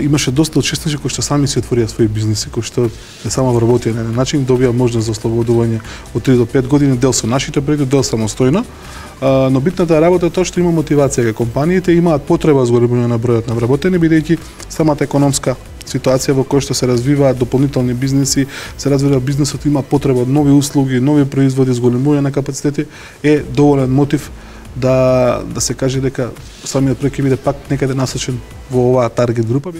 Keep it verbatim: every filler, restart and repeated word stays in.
Имаше доста учесници кои што сами си отворија своји бизнеси, кои што не само вработија на еден начин, добија можност за ослободување од три до пет години, дел со нашите проекти, дел самостојно. Но битната работа е тоа што има мотивација кај компаниите, имаат потреба за зголемување на бројот на вработени, бидејќи самата економска ситуација во која што се развиваат дополнителни бизнеси, се развива бизнесот, има потреба од нови услуги, нови производи, зголемување на капацитети, е доволен мотив да да се каже дека самиот проект ќе биде пак некаде насочен во оваа таргет група.